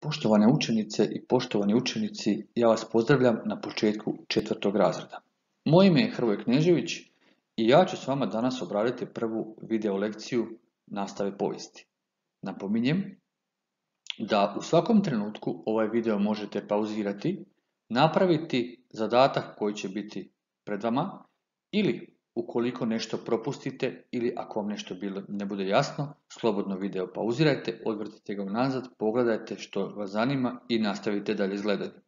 Poštovane učenice i poštovani učenici, ja vas pozdravljam na početku 4. razreda. Moje ime je Hrvoje Knežević i ja ću s vama danas obraditi prvu video lekciju nastave povijesti. Napominjem da u svakom trenutku ovaj video možete pauzirati, napraviti zadatak koji će biti pred vama ili ukoliko nešto propustite ili ako vam nešto ne bude jasno, slobodno video pauzirajte, odvrtite ga nazad, pogledajte što vas zanima i nastavite dalje s gledanjem.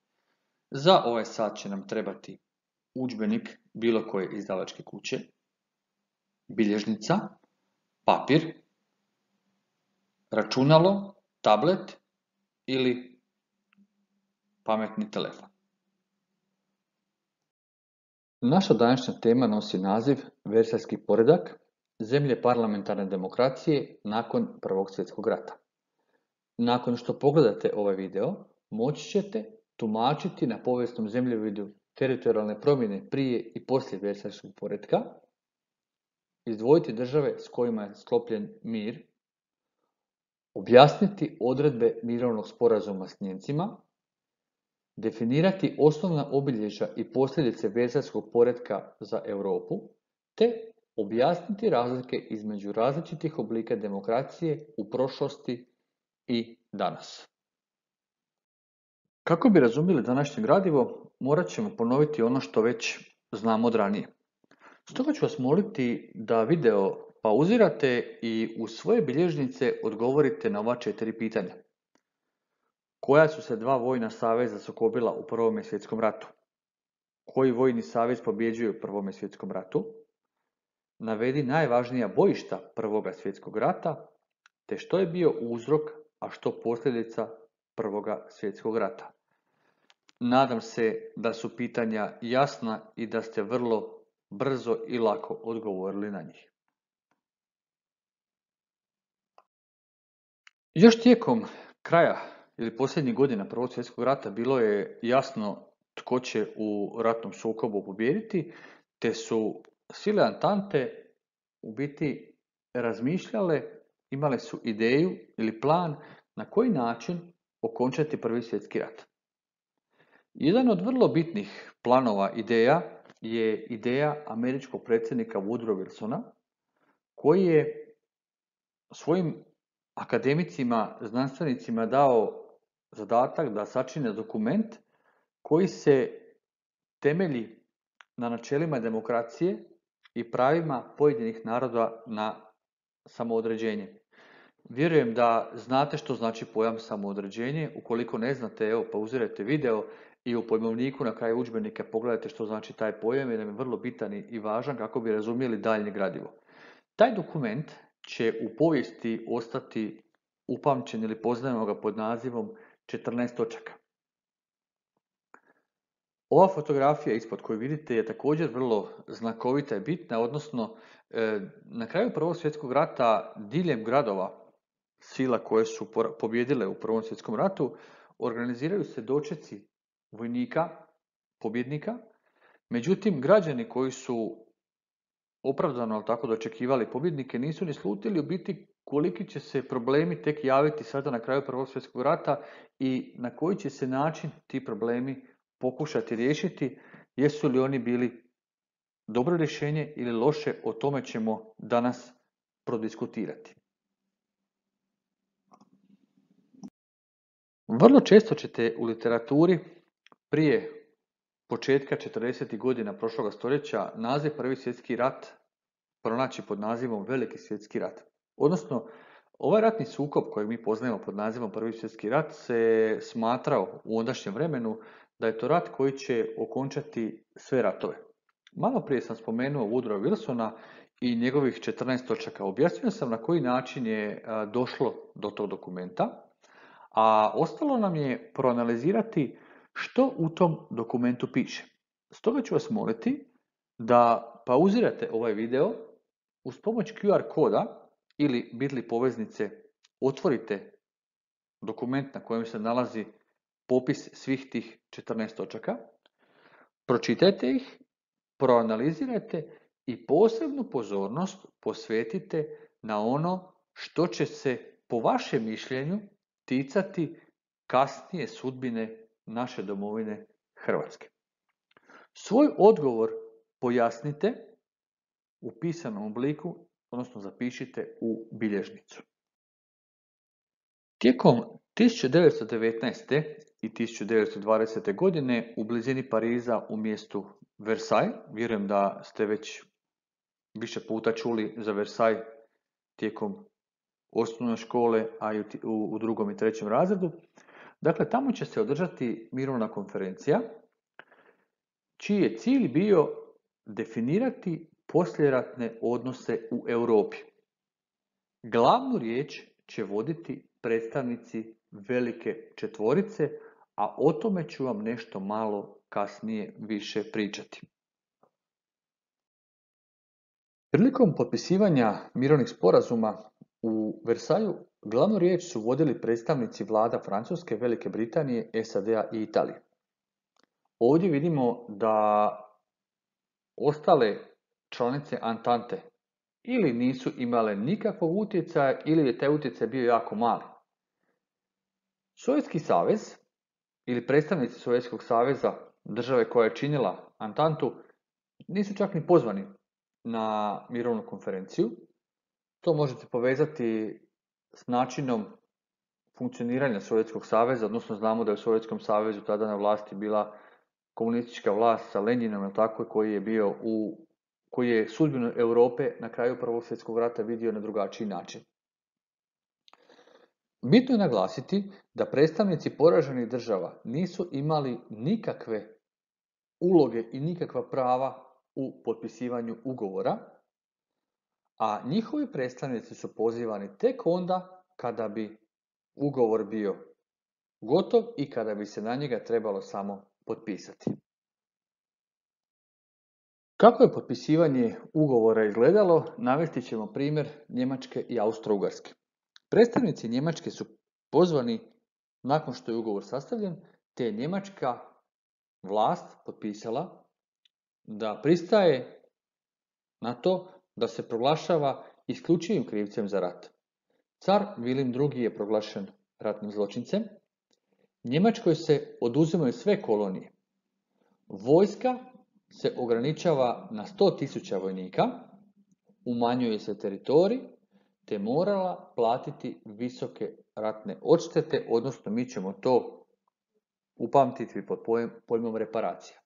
Za ovaj sat će nam trebati udžbenik bilo koje izdavačke kuće, bilježnica, papir, računalo, tablet ili pametni telefon. Naša današnja tema nosi naziv Versajski poredak, zemlje parlamentarne demokracije nakon Prvog svjetskog rata. Nakon što pogledate ovaj video, moći ćete tumačiti na povijesnom zemljovidu teritorijalne promjene prije i poslije Versajskog poretka, izdvojiti države s kojima je sklopljen mir, objasniti odredbe mirovnog sporazuma s Nijemcima, definirati osnovna obilježja i posljedice Versajskog poretka za Europu, te objasniti razlike između različitih oblika demokracije u prošlosti i danas. Kako bi razumjeli današnje gradivo, morat ćemo ponoviti ono što već znamo od ranije. Stoga ću vas moliti da video pauzirate i u svoje bilježnice odgovorite na ova 4 pitanja. Koja su se 2 vojna saveza sukobila u Prvom svjetskom ratu? Koji vojni savez pobjeđuje u Prvom svjetskom ratu? Navedi najvažnija bojišta Prvoga svjetskog rata, te što je bio uzrok, a što posljedica Prvoga svjetskog rata. Nadam se da su pitanja jasna i da ste vrlo brzo i lako odgovorili na njih. Još tijekom kraja ili posljednjih godina Prvog svjetskog rata bilo je jasno tko će u ratnom sukobu pobijediti, te su sile Antante u biti razmišljale, imale su ideju ili plan na koji način okončati Prvi svjetski rat. Jedan od vrlo bitnih planova ideja je ideja američkog predsjednika Woodrow Wilsona, koji je svojim akademicima, znanstvenicima dao zadatak da sačine dokument koji se temelji na načelima demokracije i pravima pojedinih naroda na samoodređenje. Vjerujem da znate što znači pojam samoodređenje. Ukoliko ne znate, evo, pauzirajte video i u pojmovniku na kraju udžbenika pogledajte što znači taj pojam, jer nam je vrlo bitan i važan kako bi razumjeli daljnje gradivo. Taj dokument će u povijesti ostati upamćen ili poznajemo ga pod nazivom 14 točaka. Ova fotografija ispod koju vidite je također vrlo znakovita i bitna, odnosno na kraju Prvog svjetskog rata diljem gradova sila koje su pobjedile u Prvom svjetskom ratu organiziraju se dočeci vojnika, pobjednika. Međutim, građani koji su opravdano tako dočekivali pobjednike nisu ni slutili u biti koliki će se problemi tek javiti sada na kraju Prvog svjetskog rata i na koji će se način ti problemi pokušati riješiti, jesu li oni bili dobro rješenje ili loše, o tome ćemo danas prodiskutirati. Vrlo često ćete u literaturi prije početka 40. godina prošloga stoljeća naziv Prvi svjetski rat pronaći pod nazivom Veliki svjetski rat. Odnosno, ovaj ratni sukob koji mi poznajemo pod nazivom Prvi svjetski rat se smatrao u ondašnjem vremenu da je to rat koji će okončati sve ratove. Malo prije sam spomenuo Woodrow Wilsona i njegovih 14 točaka. Objasnio sam na koji način je došlo do tog dokumenta, a ostalo nam je proanalizirati što u tom dokumentu piše. Stoga ću vas moliti da pauzirate ovaj video, uz pomoć QR koda ili bit.ly poveznice otvorite dokument na kojem se nalazi popis svih tih 14 točaka, pročitajte ih, proanalizirajte i posebnu pozornost posvetite na ono što će se po vašem mišljenju ticati kasnije sudbine naše domovine Hrvatske. Svoj odgovor pojasnite u pisanom obliku, odnosno zapišite u bilježnicu. Tijekom 1919. i 1920. godine u blizini Pariza u mjestu Versailles, vjerujem da ste već više puta čuli za Versailles tijekom osnovne škole, a i u drugom i trećem razredu. Dakle, tamo će se održati mirovna konferencija, čiji je cilj bio definirati poslijeratne odnose u Europi. Glavnu riječ će voditi predstavnici velike četvorice, a o tome ću vam nešto malo kasnije više pričati. Prilikom potpisivanja mirovnih sporazuma u Versaju glavnu riječ su vodili predstavnici vlada Francuske, Velike Britanije, SAD-a i Italije. Ovdje vidimo da ostale članice Antante ili nisu imale nikakvog utjecaja ili je taj utjecaj bio jako mali. Sovjetski savez ili predstavnici Sovjetskog saveza, države koja je činila Antantu, nisu čak ni pozvani na mirovnu konferenciju. To možete povezati s načinom funkcioniranja Sovjetskog saveza, odnosno znamo da je u Sovjetskom savezu tada na vlasti bila komunistička vlast sa Lenjinom, tako, koji je sudbinu Europe na kraju Prvog svjetskog rata vidio na drugačiji način. Bitno je naglasiti da predstavnici poraženih država nisu imali nikakve uloge i nikakva prava u potpisivanju ugovora, a njihovi predstavnici su pozivani tek onda kada bi ugovor bio gotov i kada bi se na njega trebalo samo potpisati. Kako je potpisivanje ugovora izgledalo, navesti ćemo primjer Njemačke i Austro-Ugarske. Predstavnici Njemačke su pozvani nakon što je ugovor sastavljen, te je njemačka vlast potpisala da pristaje na to da se proglašava isključivim krivcem za rat. Car Vilim II je proglašen ratnim zločincem. Njemačkoj se oduzimaju sve kolonije. Vojska se ograničava na 100.000 vojnika, umanjuje se teritorij, te morala platiti visoke ratne odštete, odnosno mi ćemo to upamtiti pod pojmom reparacija.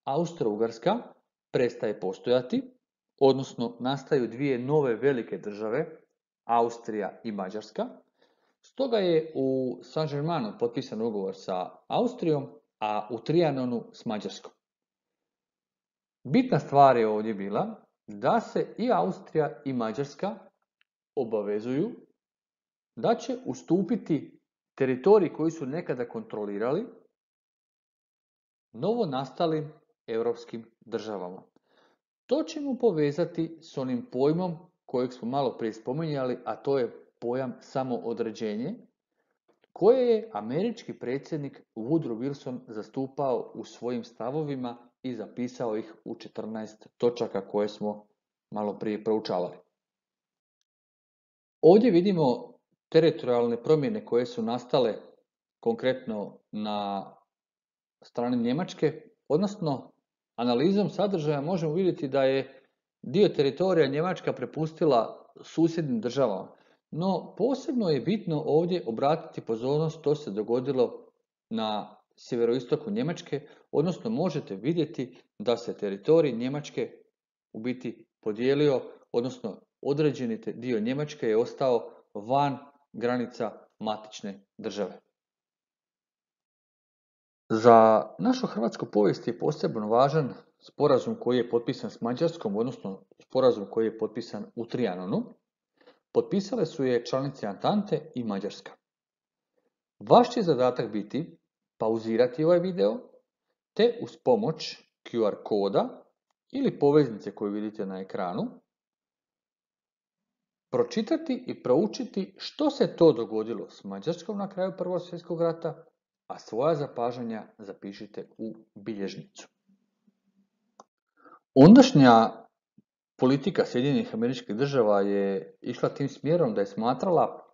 Austro-Ugarska prestaje postojati, odnosno nastaju dvije nove velike države, Austrija i Mađarska. Stoga je u Saint-Germainu potpisan ugovor sa Austrijom, a u Trianonu s Mađarskom. Bitna stvar je ovdje bila da se i Austrija i Mađarska obavezuju da će ustupiti teritorij koji su nekada kontrolirali novo nastalim europskim državama. To ćemo povezati s onim pojmom kojeg smo malo prije spominjali, a to je pojam samoodređenje, koje je američki predsjednik Woodrow Wilson zastupao u svojim stavovima i zapisao ih u 14 točaka koje smo malo prije proučavali. Ovdje vidimo teritorijalne promjene koje su nastale konkretno na strani Njemačke, odnosno analizom sadržaja možemo vidjeti da je dio teritorija Njemačka prepustila susjednim državama. No, posebno je bitno ovdje obratiti pozornost, to se dogodilo na sjeveroistoku Njemačke, odnosno možete vidjeti da se teritorij Njemačke u biti podijelio, odnosno određeni dio Njemačke je ostao van granica matične države. Za našu hrvatsku povijest je posebno važan sporazum koji je potpisan s Mađarskom, odnosno sporazum koji je potpisan u Trianonu. Potpisale su je članice Antante i Mađarska. Vaš će zadatak biti pauzirati ovaj video, te uz pomoć QR koda ili poveznice koju vidite na ekranu, pročitati i proučiti što se to dogodilo s Mađarskom na kraju Prvog svjetskog rata, a svoja zapažanja zapišite u bilježnicu. Ondašnja politika Sjedinjenih Američkih Država je išla tim smjerom da je smatrala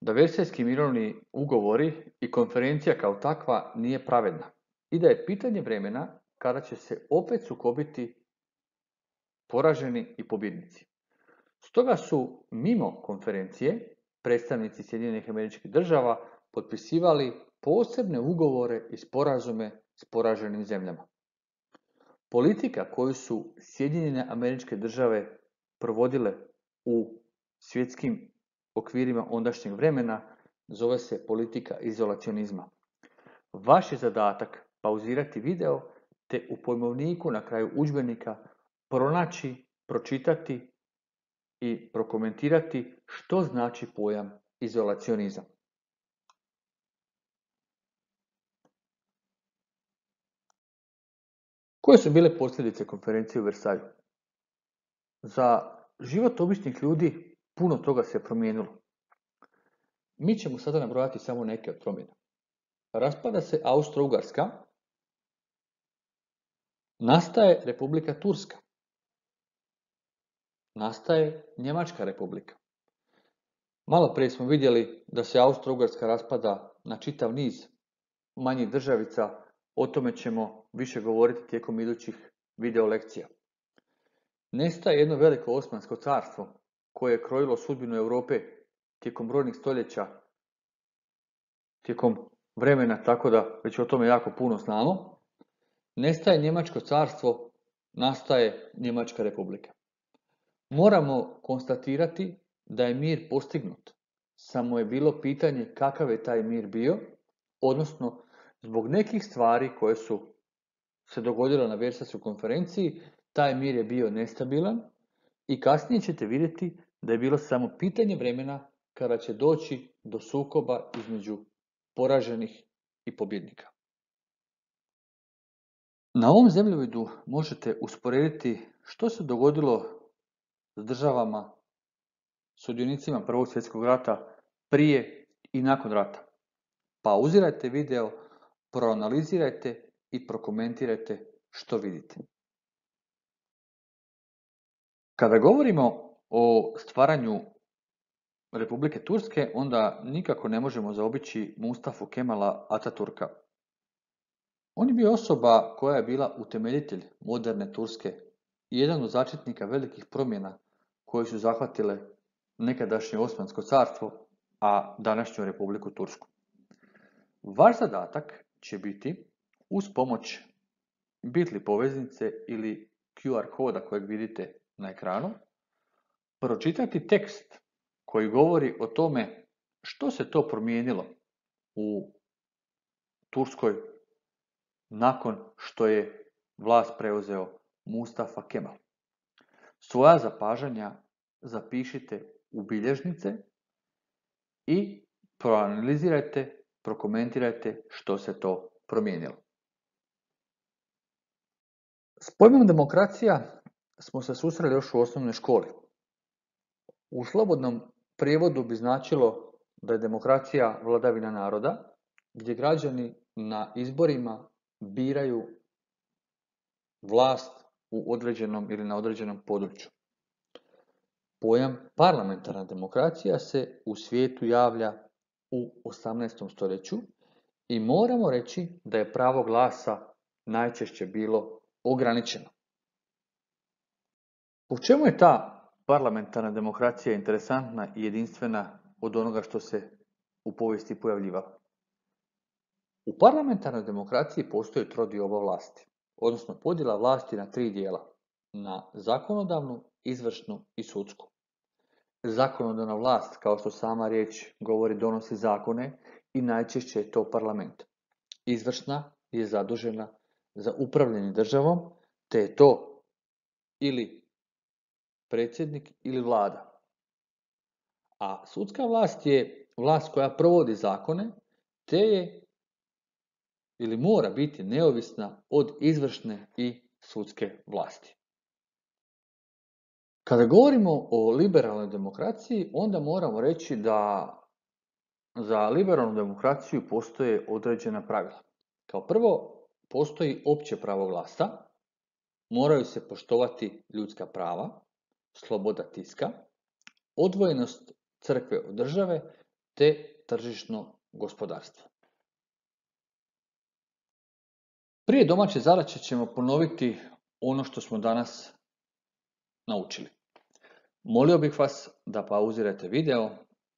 da Versajski mirovni ugovori i konferencija kao takva nije pravedna i da je pitanje vremena kada će se opet sukobiti poraženi i pobjednici. Stoga su mimo konferencije predstavnici Sjedinjenih Američkih Država potpisivali posebne ugovore i sporazume s poraženim zemljama. Politika koju su Sjedinjene Američke Države provodile u svjetskim okvirima ondašnjeg vremena zove se politika izolacionizma. Vaš je zadatak pauzirati video te u pojmovniku na kraju udžbenika pronaći, pročitati i prokomentirati što znači pojam izolacionizam. Koje su bile posljedice konferencije u Versaju? Za život običnih ljudi puno toga se promijenilo. Mi ćemo sada nabrojati samo neke od promjena. Raspada se Austro-Ugarska, nastaje Republika Turska, nastaje Njemačka republika. Malo prije smo vidjeli da se Austro-Ugarska raspada na čitav niz manjih državica, o tome ćemo više govoriti tijekom idućih video lekcija. Nestaje jedno veliko Osmansko carstvo koje je krojilo sudbinu Europe tijekom brojnih stoljeća, tijekom vremena, tako da već o tome jako puno znamo. Nestaje Njemačko carstvo, nastaje Njemačka republika. Moramo konstatirati da je mir postignut, samo je bilo pitanje kakav je taj mir bio, odnosno zbog nekih stvari koje su se dogodile na Versajskoj konferenciji, taj mir je bio nestabilan i kasnije ćete vidjeti da je bilo samo pitanje vremena kada će doći do sukoba između poraženih i pobjednika. Na ovom zemljovidu možete usporediti što se dogodilo s državama, sudionicima Prvog svjetskog rata prije i nakon rata. Pauzirajte video, proanalizirajte i prokomentirajte što vidite. Kada govorimo o stvaranju Republike Turske, onda nikako ne možemo zaobići Mustafu Kemala Ataturka. On je bio osoba koja je bila utemeljitelj moderne Turske i jedan od začetnika velikih promjena koje su zahvatile nekadašnje Osmansko carstvo, a današnju Republiku Tursku. Vaš zadatak će biti, uz pomoć Bitly poveznice ili QR koda kojeg vidite na ekranu, pročitati tekst koji govori o tome što se to promijenilo u Turskoj nakon što je vlast preuzeo Mustafa Kemal. Svoja zapažanja zapišite u bilježnice i proanalizirajte, prokomentirajte što se to promijenilo. S pojmom demokracija smo se susreli još u osnovnoj školi. U slobodnom prijevodu bi značilo da je demokracija vladavina naroda, gdje građani na izborima biraju vlast u određenom ili na određenom području. Pojam parlamentarna demokracija se u svijetu javlja u 18. stoljeću i moramo reći da je pravo glasa najčešće bilo ograničeno. U čemu je ta parlamentarna demokracija interesantna i jedinstvena od onoga što se u povijesti pojavljivalo? U parlamentarnoj demokraciji postoji trodioba vlasti, odnosno podjela vlasti na 3 dijela, na zakonodavnu, izvršnu i sudsku. Zakonodavna vlast, kao što sama riječ govori, donosi zakone i najčešće je to parlament. Izvršna je zadužena za upravljanje državom, te je to ili predsjednik ili vlada. A sudska vlast je vlast koja provodi zakone, te je ili mora biti neovisna od izvršne i sudske vlasti. Kada govorimo o liberalnoj demokraciji, onda moramo reći da za liberalnu demokraciju postoje određena pravila. Kao prvo, postoji opće pravo glasa, moraju se poštovati ljudska prava, sloboda tiska, odvojenost crkve od države, te tržišno gospodarstvo. Prije domaće zadaće ćemo ponoviti ono što smo danas naučili. Molio bih vas da pauzirate video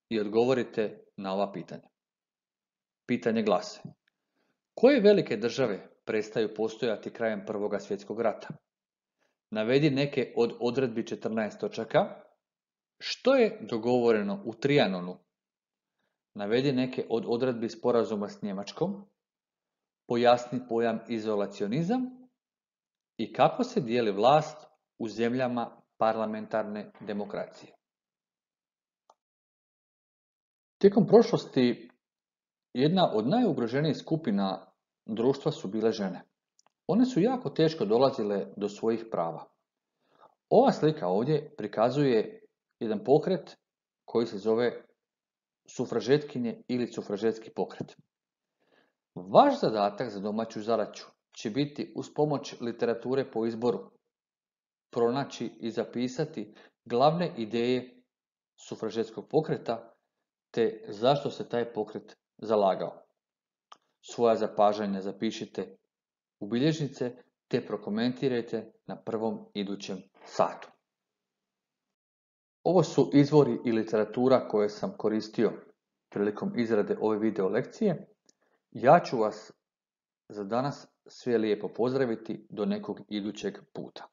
i odgovorite na ova pitanja. Pitanje glase: koje velike države prestaju postojati krajem Prvog svjetskog rata? Navedi neke od odredbi 14 točaka. Što je dogovoreno u Trianonu? Navedi neke od odredbi sporazuma s Njemačkom. Pojasni pojam izolacionizam i kako se dijeli vlast u zemljama parlamentarne demokracije. Tijekom prošlosti jedna od najugroženijih skupina društva su bile žene. One su jako teško dolazile do svojih prava. Ova slika ovdje prikazuje jedan pokret koji se zove sufražetkinje ili sufražetski pokret. Vaš zadatak za domaću zadaću će biti uz pomoć literature po izboru pronaći i zapisati glavne ideje sufražetskog pokreta te zašto se taj pokret zalagao. Svoja zapažanja zapišite u bilježnice te prokomentirajte na prvom idućem satu. Ovo su izvori i literatura koje sam koristio prilikom izrade ove video lekcije. Ja ću vas za danas sve lijepo pozdraviti do nekog idućeg puta.